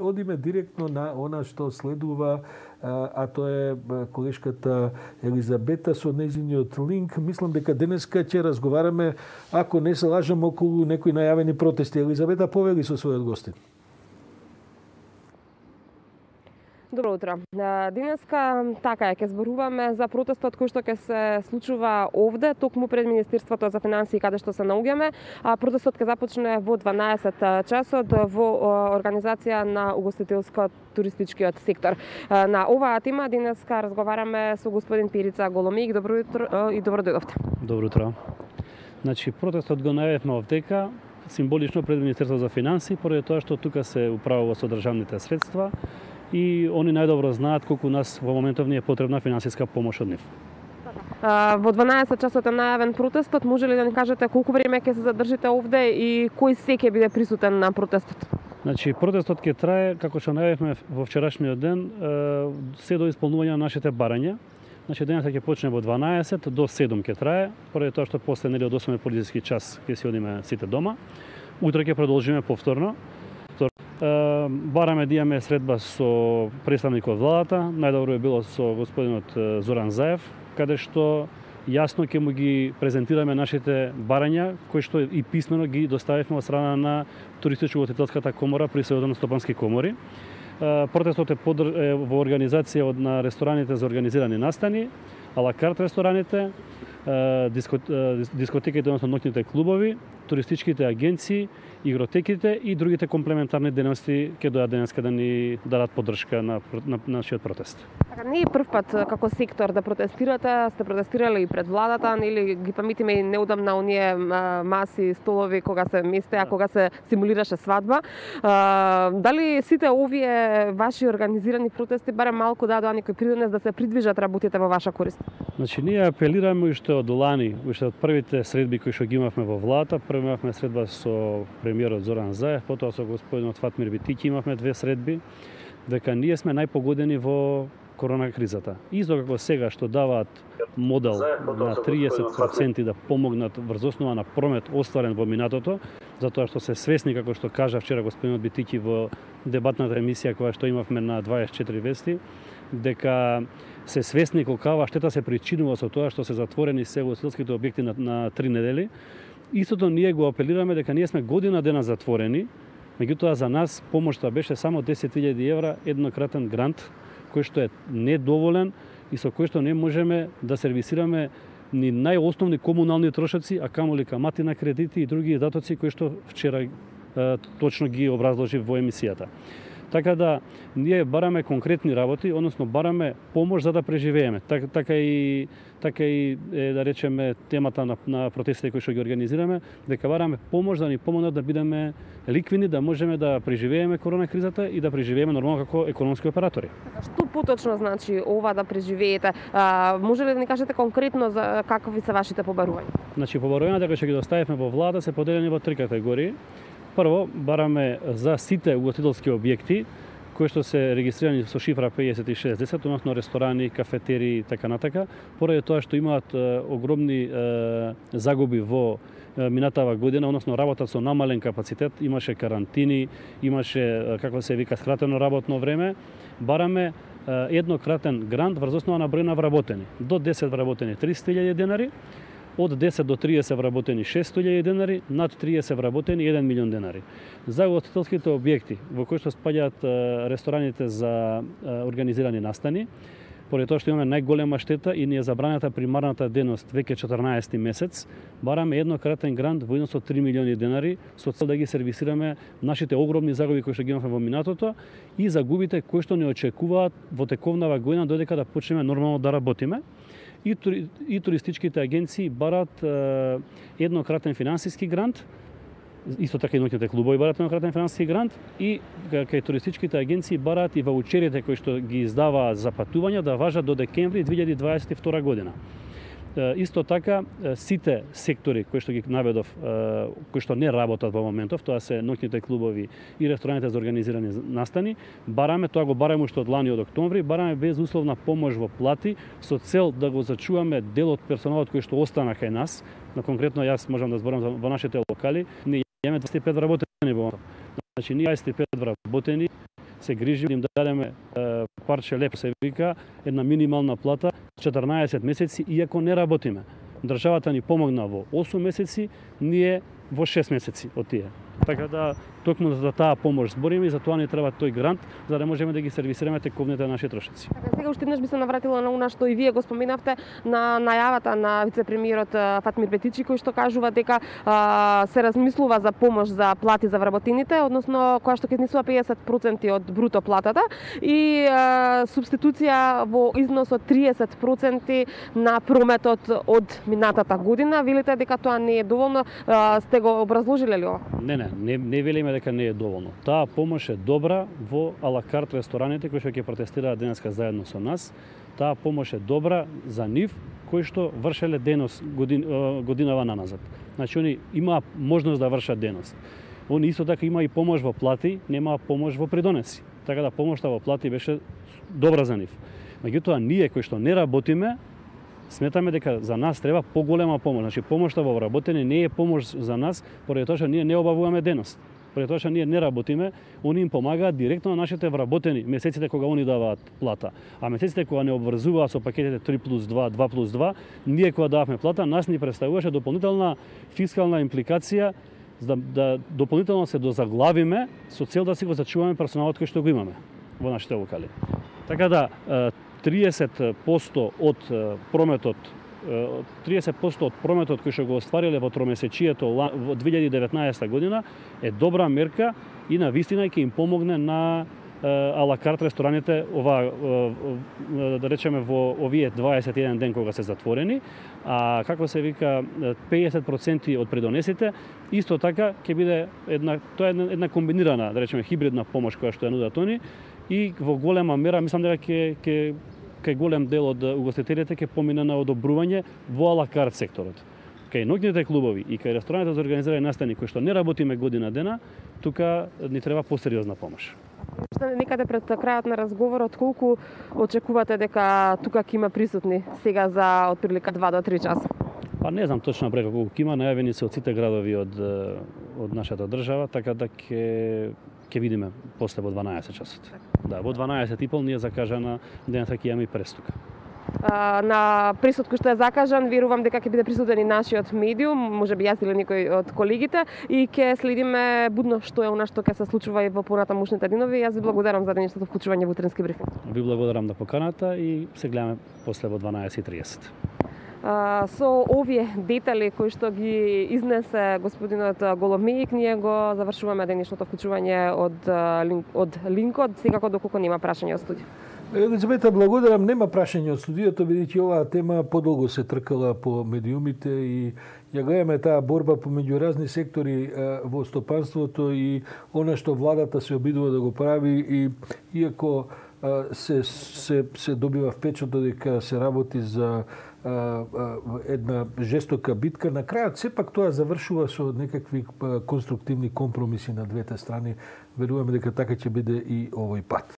одиме директно на она што следува, а тоа е колешката Елизабета со нејзиниот линк. Мислам дека денеска ќе разговараме, ако не се лажам, околу некои најавени протести. Елизабета, повели со својот гостин. Добро утро. Денеска така ќе зборуваме за протестот кој што ќе се случува овде, токму пред Министерството за финансии каде што се наоѓаме. Протестот ќе започне во 12 часот во организација на угостителско-туристичкиот сектор. На оваа тема денеска разговараме со господин Перица Голомик. Добро утро и добро дојдовте. Добро утро. Значи протестот го најавивме овдека символично пред Министерството за финансии, поради тоа што тука се управува со државните средства и они најдобро знаат колку нас во моментов ни е потребна финансиска помош од нив. Во 12 часот е најавен протестот. Може ли да ни кажете колку време ќе се задржите овде и кој се ќе биде присутен на протестот? Значи протестот ќе трае, како што најавивме во вчерашниот ден, се до исполнување на нашите барања. Значи денеска ќе почне во 12 до 7 ќе трае, поради тоа што после нели од 8 полицейски час ќе си одиме сите дома. Утре ќе продолжиме повторно. Бараме да имаме средба со представник од владата, најдобро би било со господинот Зоран Заев, каде што јасно ќе му ги презентираме нашите барања, кои што и писмено ги доставивме од страна на Туристичко-ugostителската комора при Сојузот на стопански комори. Протестот е во организација на рестораните за организирани настани, алакарт рестораните, дискотеките, односно ноќните клубови, туристичките агенции, игротеките и другите комплементарни дејности ќе дојдат денеска да ни дадат поддршка на нашиот протест. Така, не е прв пат како сектор да протестирате, сте протестирали и пред владата, нели ги памтиме и неудамна оние маси, столови кога се местеа, кога се симулираше свадба. Дали сите овие ваши организирани протести барем малку дадоа некој придонес да се придвижат работите во ваша корист? Значи ние апелираме уште од лани, уште од првите средби кои што ги имавме во владата. Прво имавме средба со премиерот Зоран Заев, потоа со господинот Фатмир Битики имавме две средби, дека ние сме најпогодени во корона кризата. Исто како сега што даваат модел на 30% да помогнат врз основа на промет остварен во минатото, затоа што се свесни, како што кажа вчера господинот Битики во дебатната емисија која што имавме на 24 вести, дека се свесни колкава штета се причинува со тоа што се затворени се ugostителските објекти на 3 недели. Истото ние го апелираме дека ние сме година дена затворени, меѓутоа за нас помошта беше само 10.000 евра еднократен грант, кој што е недоволен и со кој што не можеме да сервисираме ни најосновни комунални трошоци, а камоли камати на кредити и други издатоци кои што вчера точно ги образложи во емисијата. Така да ние бараме конкретни работи, односно бараме помош за да преживееме. Така и да речеме темата на протестите кои што ги организираме, дека бараме помош да ни помогнат да бидеме ликвидни, да можеме да преживееме корона кризата и да преживееме нормално како економски оператори. Што поточно значи ова да преживеете? Може ли да ни кажете конкретно за какви се вашите побарувања? Значи побарувањата кои што ги доставивме во влада се поделени во 3 категории. Прво, бараме за сите угостителски објекти кои што се регистрирани со шифра 5610, односно ресторани, кафетерии и така натака, поради тоа што имаат огромни загуби во минатава година, односно работат со намален капацитет, имаше карантини, имаше, како се вика, скратено работно време, бараме еднократен грант врз основа на број на вработени. До 10 вработени 300.000 денари, од 10 до 30 вработени 600.000 денари, над 30 вработени 1 милион денари. За ugostителските објекти во кои што спаѓаат рестораните за организирани настани, поради тоа што имаме најголема штета и ни е забранета примарната дејност веќе 14 месец, бараме еднократен грант во износ од 3 милиони денари со цел да ги сервисираме нашите огромни загуби кои што ги имавме во минатото и загубите кои што не очекуваат во тековнава година додека да почнеме нормално да работиме. И туристичките агенции барат еднократен финансиски грант, исто така и ноќните клубови барат еднократен финансиски грант и кај туристичките агенции барат и ваучерите кои што ги издаваат за патувања да важат до декември 2022 година. Исто така, сите сектори кои што ги наведов, кои што не работат во моментов, тоа се ноќните клубови и рестораните за организирани настани, бараме, тоа го бараме уште од лани од октомври, бараме безусловна помош во плати со цел да го зачуваме дел од персоналот кој што остана кај нас. Конкретно јас можам да зборам во нашите локали, ние имаме 25 вработени во моментов. Значи ние 25 вработени се грижиме да им дадеме парче леп, се вика, една минимална плата 14 месеци, иако не работиме. Државата ни помогна во 8 месеци, ние во 6 месеци од тие. Така да, токму за таа помош збориме и за тоа ни треба тој грант, за да можеме да ги сервисираме тековните наши трошоци. Така, сега уште еднаш би се навратила на она што и вие го споменавте, на најавата на вице-премиерот Фатмир Бетичи, кој што кажува дека се размислува за помош за плати за вработените, односно која што ќе изнесува 50% од бруто платата и субституција во износ од 30% на прометот од минатата година. Велите дека тоа не е доволно, сте го образложиле ли ова? Не велиме дека не е доволно. Таа помош е добра во алакарт рестораните кои што ќе протестираат денеска заедно со нас. Таа помош е добра за нив кои што вршеле денос годинава наназад. Значи они имаа можност да вршат денос. Они исто така има и помош во плати, нема помош во придонеси. Така да помошта во плати беше добра за нив. Меѓутоа ние кои што не работиме, сметаме дека за нас треба поголема помош. Значи помошта во вработење не е помош за нас, поради тоа што ние не обавуваме денос. Поради тоа што ние не работиме, они им помагаат директно на нашите вработени месеците кога они даваат плата. А месеците кога не обврзуваат со пакетите 3+2, 2+2, ние кога дававме плата, нас ни представуваше дополнителна фискална импликација да дополнително се дозаглавиме со цел да си го зачуваме персоналот кој што го имаме во нашите локали. Така да 30% од прометот 30% од прометот кој што го оствариле во тромесечието во 2019 година е добра мерка и на вистина ќе им помогне на алакарт рестораните да речеме во овие 21 ден кога се затворени, а како се вика 50% од придонесите исто така ќе биде една комбинирана, да речеме хибридна помош која што ја нудат они и во голема мера мислам дека кај голем дел од угостителите ќе помине на одобрување во алакарт секторот. Кај ноќните клубови и кај рестораните за организирани настани кои што не работиме година дена, тука ни треба посериозна помош. Некаде пред крајот на разговорот, колку очекувате дека тука ќе има присутни сега за отприлика 2 до 3 часа? Па не знам точно бројка колку ќе има, најавени се од сите градови од нашата држава, така да ќе видиме после во 12 часот. Да, во 12:30 ние закажана денеска ќе имаме и престука. На присут кој што е закажан, верувам дека ќе биде присутен и нашиот медиум, можеби јас или некој од колегите, и ќе следиме будно што е она што ќе се случува и во понатамушните денови. Јас ви благодарам за денешното вклучување во утренски брифинг. Ви благодарам на поканата и се гледаме после во 12:30. Со овие детали кои што ги изнесе господинот Голомејик, ние го завршуваме денешното вклучување од линкот, секако доколку нема прашања од студио. Елизабета, благодарам. Нема прашање од студиото, бидејќи оваа тема подолго се тркала по медиумите и ја гледаме таа борба помеѓу разни сектори во стопанството и она што владата се обидува да го прави и иако се добива впечаток дека се работи за една жестока битка, на крајот сепак тоа завршува со некакви конструктивни компромиси на двете страни. Веруваме дека така ќе биде и овој пат.